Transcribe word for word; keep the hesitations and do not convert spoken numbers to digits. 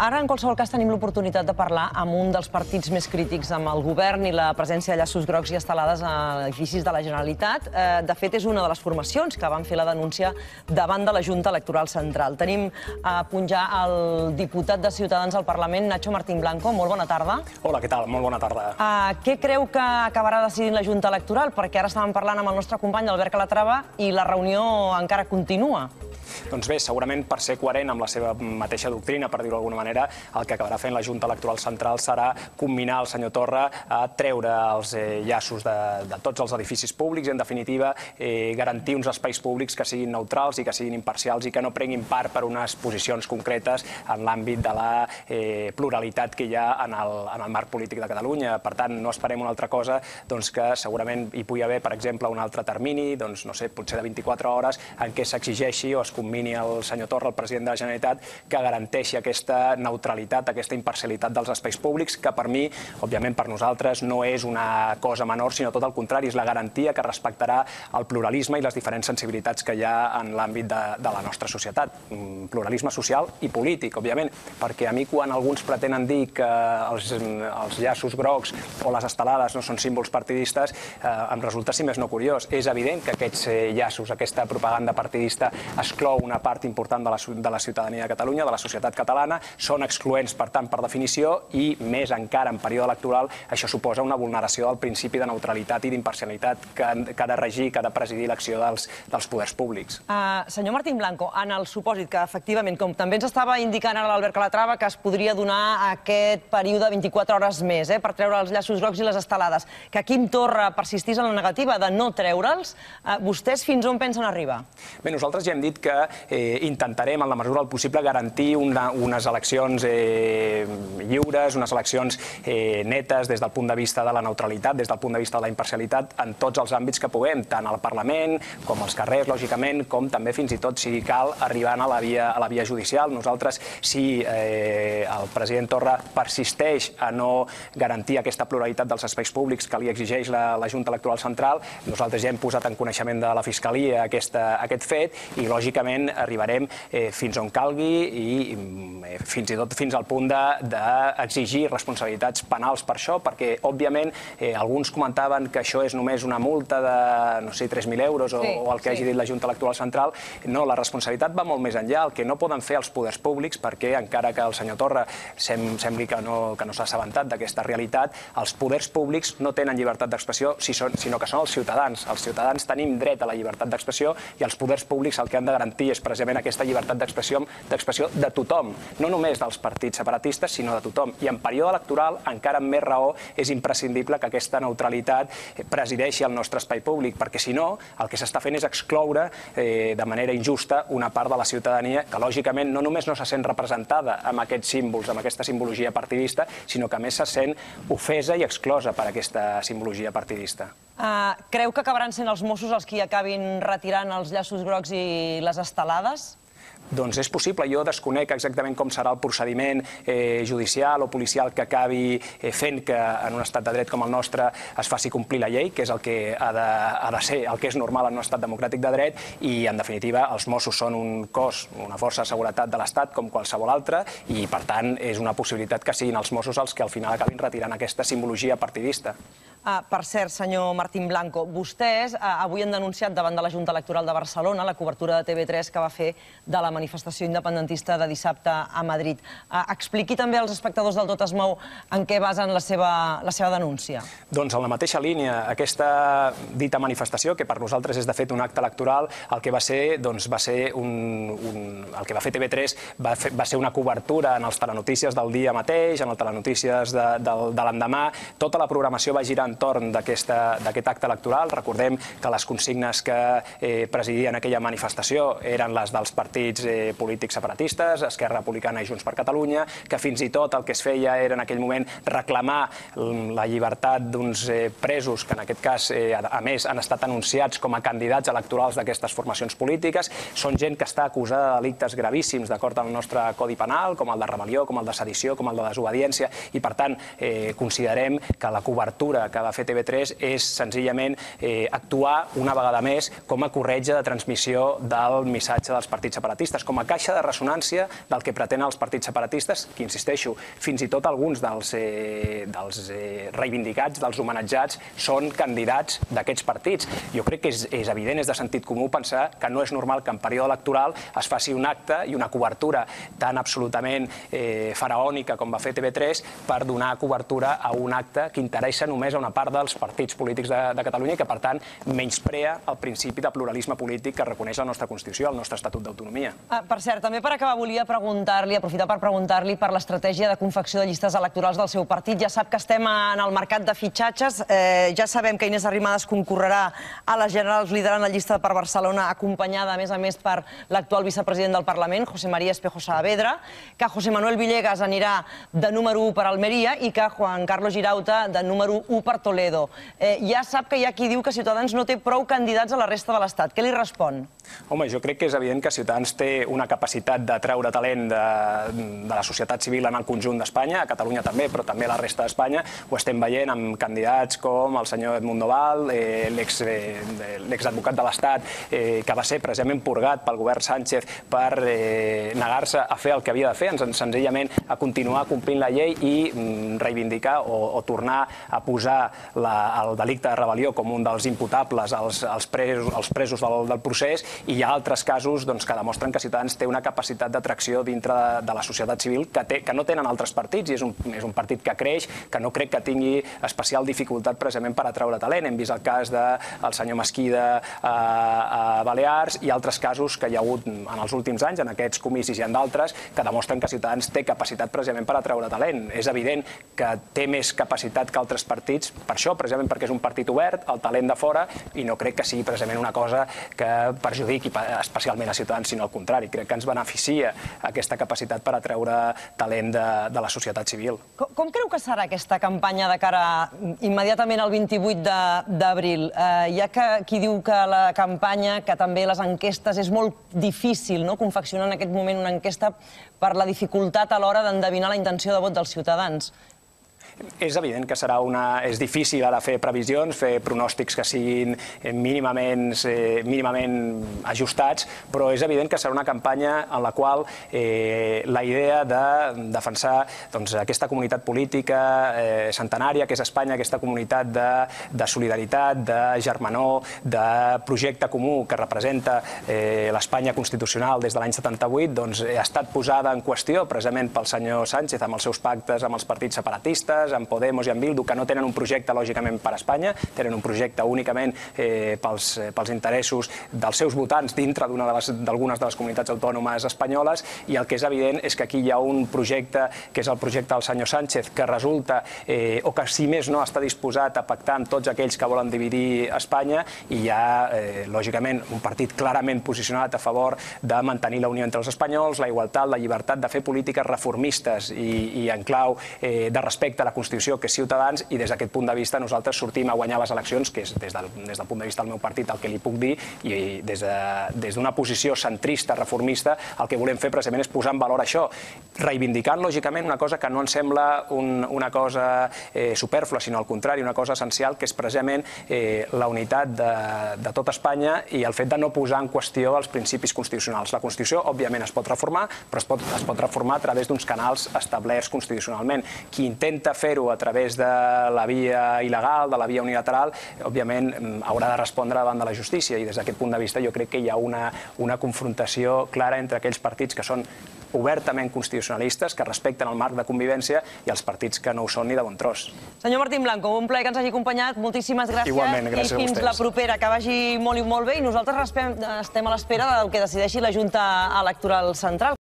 Ara, en qualsevol cas, tenim l'oportunitat de parlar amb un dels partits més crítics amb el govern i la presència de llaços grocs i estelades a edificis de la Generalitat. De fet, és una de les formacions que van fer la denúncia davant de la Junta Electoral Central. Tenim a punt ja el diputat de Ciutadans al Parlament, Nacho Martín Blanco. Molt bona tarda. Hola, què tal? Molt bona tarda. Què creu que acabarà decidint la Junta Electoral? Perquè ara estàvem parlant amb el nostre company, Albert Calatrava, i la reunió encara continua. Doncs bé, segurament per ser coherent amb la seva mateixa doctrina, per dir-ho d'alguna manera, el que acabarà fent la Junta Electoral Central serà comminar el senyor Torra a treure els llaços de tots els edificis públics i, en definitiva, garantir uns espais públics que siguin neutrals i que siguin imparcials i que no prenguin part per unes posicions concretes en l'àmbit de la pluralitat que hi ha en el marc polític de Catalunya. Per tant, no esperem una altra cosa que segurament hi pugui haver, per exemple, un altre termini, doncs, no sé, potser de vint-i-quatre hores, en què s'exigeixi o es commini el senyor Torra, el president de la Generalitat, que garanteixi aquesta neutralitat, aquesta imparcialitat dels espais públics, que per mi, òbviament per nosaltres, no és una cosa menor, sinó tot el contrari, és la garantia que respectarà el pluralisme i les diferents sensibilitats que hi ha en l'àmbit de la nostra societat. Pluralisme social i polític, òbviament, perquè a mi quan alguns pretenen dir que els llaços grocs o les estelades no són símbols partidistes, em resulta, si més no, curiós. És evident que aquests llaços, aquesta propaganda partidista, exclou una part important de la ciutadania de Catalunya, de la societat catalana, són excloents, per tant, per definició, i més encara en període electoral, això suposa una vulneració del principi de neutralitat i d'imparcialitat que ha de regir, que ha de presidir l'acció dels poders públics. Senyor Martín Blanco, en el supòsit que, efectivament, com també ens estava indicant ara l'Albert Calatrava, que es podria donar aquest període de vint-i-quatre hores més per treure els llaços grocs i les estelades, que Quim Torra persistís en la negativa de no treure'ls, vostès fins on pensen arribar? Bé, nosaltres ja hem dit que intentarem, en la mesura del possible, garantir unes eleccions lliures, unes eleccions netes des del punt de vista de la neutralitat, des del punt de vista de la imparcialitat, en tots els àmbits que puguem, tant al Parlament com als carrers, lògicament, com també fins i tot, si cal, arribant a la via judicial. Nosaltres, si el president Torra persisteix a no garantir aquesta pluralitat dels espais públics que li exigeix la Junta Electoral Central, nosaltres ja hem posat en coneixement de la Fiscalia aquest fet i, lògicament, arribarem fins on calgui i fins i tot fins al punt d'exigir responsabilitats penals per això, perquè, òbviament, alguns comentaven que això és només una multa de, no sé, tres mil euros o el que hagi dit la Junta Electoral Central. No, la responsabilitat va molt més enllà. El que no poden fer els poders públics, perquè, encara que el senyor Torra sembli que no s'ha assabentat d'aquesta realitat, els poders públics no tenen llibertat d'expressió, sinó que són els ciutadans. Els ciutadans tenim dret a la llibertat d'expressió i els poders públics el que han de garantir és precisament aquesta llibertat d'expressió de tothom, no només dels partits separatistes, sinó de tothom. I en període electoral, encara amb més raó, és imprescindible que aquesta neutralitat presideixi el nostre espai públic, perquè si no, el que s'està fent és excloure de manera injusta una part de la ciutadania que, lògicament, no només no se sent representada amb aquests símbols, amb aquesta simbologia partidista, sinó que a més se sent ofesa i exclosa per aquesta simbologia partidista. Creu que acabaran sent els Mossos els qui acabin retirant els llaços grocs i les estelades? Doncs és possible. Jo desconec exactament com serà el procediment judicial o policial que acabi fent que en un estat de dret com el nostre es faci complir la llei, que és el que ha de ser, el que és normal en un estat democràtic de dret, i, en definitiva, els Mossos són un cos, una força de seguretat de l'Estat com qualsevol altre, i, per tant, és una possibilitat que siguin els Mossos els que al final acabin retirant aquesta simbologia partidista. Per cert, senyor Martín Blanco, vostès avui han denunciat davant de la Junta Electoral de Barcelona la cobertura de T V tres que va fer de la manifestació independentista de dissabte a Madrid. Expliqui també als espectadors del Tot es mou en què basen la seva denúncia. Doncs en la mateixa línia, aquesta dita manifestació, que per nosaltres és de fet un acte electoral, el que va ser, doncs va ser un... el que va fer T V tres va ser una cobertura en els telenotícies del dia mateix, en el telenotícies de l'endemà. Tota la programació va girar entorn d'aquest acte electoral. Recordem que les consignes que presidien aquella manifestació eren les dels partits polítics separatistes, Esquerra Republicana i Junts per Catalunya, que fins i tot el que es feia era en aquell moment reclamar la llibertat d'uns presos que en aquest cas, a més, han estat anunciats com a candidats electorals d'aquestes formacions polítiques. Són gent que està acusada de delictes gravíssims d'acord amb el nostre Codi Penal, com el de rebel·lió, com el de sedició, com el de desobediència, i per tant considerem que la cobertura que que va fer T V tres és senzillament actuar una vegada més com a corretja de transmissió del missatge dels partits separatistes, com a caixa de ressonància del que pretenen els partits separatistes, que, insisteixo, fins i tot alguns dels reivindicats, dels homenatjats, són candidats d'aquests partits. Jo crec que és evident, és de sentit comú pensar que no és normal que en període electoral es faci un acte i una cobertura tan absolutament faraònica com va fer T V tres per donar cobertura a un acte que interessa només a una part dels partits polítics de Catalunya i que, per tant, menysprea el principi de pluralisme polític que reconeix la nostra Constitució, el nostre Estatut d'Autonomia. Per cert, també per acabar volia preguntar-li, aprofitar per preguntar-li per l'estratègia de confecció de llistes electorals del seu partit. Ja sap que estem en el mercat de fitxatges, ja sabem que Inés Arrimadas concorrerà a les generals liderant la llista per Barcelona, acompanyada, a més a més, per l'actual vicepresident del Parlament, José María Espejo Saavedra, que José Manuel Villegas anirà de número u per Almeria i que Juan Carlos Girauta de número u per Toledo. Ja sap que hi ha qui diu que Ciutadans no té prou candidats a la resta de l'Estat. Què li respon? Home, jo crec que és evident que Ciutadans té una capacitat de treure talent de la societat civil en el conjunt d'Espanya, a Catalunya també, però també a la resta d'Espanya. Ho estem veient amb candidats com el senyor Edmundo Val, l'exadvocat de l'Estat, que va ser precisament purgat pel govern Sánchez per negar-se a fer el que havia de fer, senzillament a continuar complint la llei i reivindicar o tornar a posar el delicte de rebel·lió com un dels imputables als presos del procés, i hi ha altres casos que demostren que Ciutadans té una capacitat d'atracció dintre de la societat civil que no tenen altres partits, i és un partit que creix, que no crec que tingui especial dificultat precisament per atraure talent. Hem vist el cas del senyor Mesquida a Balears i altres casos que hi ha hagut en els últims anys, en aquests comicis i en d'altres, que demostren que Ciutadans té capacitat precisament per atraure talent. És evident que té més capacitat que altres partits, per això, precisament perquè és un partit obert, el talent de fora, i no crec que sigui precisament una cosa que perjudiqui especialment a Ciutadans, sinó al contrari. Crec que ens beneficia aquesta capacitat per atraure talent de la societat civil. Com creu que serà aquesta campanya de cara immediatament al vint-i-vuit d'abril? Hi ha qui diu que la campanya, que també les enquestes, és molt difícil confeccionar en aquest moment una enquesta per la dificultat a l'hora d'endevinar la intenció de vot dels ciutadans. És evident que serà una... És difícil ara fer previsions, fer pronòstics que siguin mínimament ajustats, però és evident que serà una campanya en la qual la idea de defensar aquesta comunitat política centenària, que és Espanya, aquesta comunitat de solidaritat, de germanor, de projecte comú que representa l'Espanya constitucional des de l'any setanta-vuit, ha estat posada en qüestió precisament pel senyor Sánchez amb els seus pactes amb els partits separatistes, amb Podemos i amb Bildu, que no tenen un projecte lògicament per a Espanya, tenen un projecte únicament pels interessos dels seus votants dintre d'algunes de les comunitats autònomes espanyoles, i el que és evident és que aquí hi ha un projecte, que és el projecte del senyor Sánchez, que resulta, o que si més no està disposat a pactar amb tots aquells que volen dividir Espanya, i hi ha, lògicament, un partit clarament posicionat a favor de mantenir la unió entre els espanyols, la igualtat, la llibertat, de fer polítiques reformistes i en clau de respecte a la Constitució, que és Ciutadans, i des d'aquest punt de vista nosaltres sortim a guanyar les eleccions, que és des del punt de vista del meu partit el que li puc dir, i des d'una posició centrista, reformista, el que volem fer precisament és posar en valor això, reivindicant lògicament una cosa que no ens sembla una cosa supèrflua, sinó al contrari, una cosa essencial, que és precisament la unitat de tot Espanya i el fet de no posar en qüestió els principis constitucionals. La Constitució, òbviament, es pot reformar, però es pot reformar a través d'uns canals establerts constitucionalment. Qui intenta fer-ho a través de la via il·legal, de la via unilateral, òbviament haurà de respondre davant de la justícia, i des d'aquest punt de vista jo crec que hi ha una confrontació clara entre aquells partits que són obertament constitucionalistes, que respecten el marc de convivència, i els partits que no ho són ni de bon tros. Senyor Martín Blanco, un plaer que ens hagi acompanyat, moltíssimes gràcies. Igualment, gràcies a vostès. I fins la propera, que vagi molt i molt bé, i nosaltres estem a l'espera del que decideixi la Junta Electoral Central.